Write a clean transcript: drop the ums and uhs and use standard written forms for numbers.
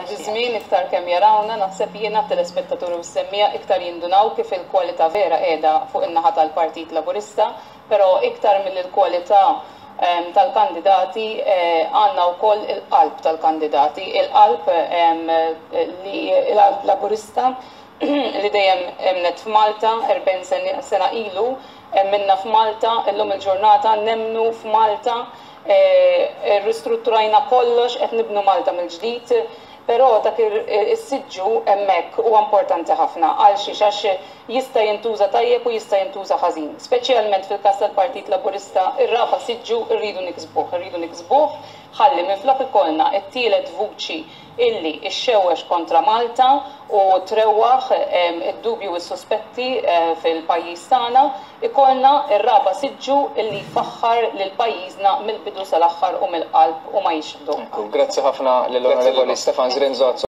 jgħaddi żmien, iktar kemm jarawna, naħseb jiena telespettaturi u s-semmiegħa iktar jindunaw kif il-kwalità vera qiegħda fuq in-naħa tal-Partit Laburista, però iktar milli l-kwalità tal-kandidati għandna wkoll il-qalb tal-kandidati, il-qalb li il-qalb Laburista li dejjem emnet f'Malta 40 sena ilu, emminna f'Malta, illum il-ġurnata nemmnu f'Malta, ristrutturajna kollox, qed nibnu Malta mill-ġdid, però dak is-siġġu hemmhekk huwa importanti ħafna. Għal xiex? Għax jista' jintuża tajjeb u jista' jintuża ħażin. Speċjalment fil-każ tal-Partit Laburista, ir-raba' siġġu rridu niksbuh, irridu niksbuh ħalli minflok ikollna t-tielet vuċi illi ixxewwex kontra Malta u trewwaħ id-dubju u s-suspetti fil-pajjiż tagħna, ikollna r-raba' siġġu illi jfaħħar lil pajjiżna mill-bidu sal-aħħar u mill-qalb u ma jixħdu. Grazzi ħafna lill-Onorevoli Stefan Zrinzo.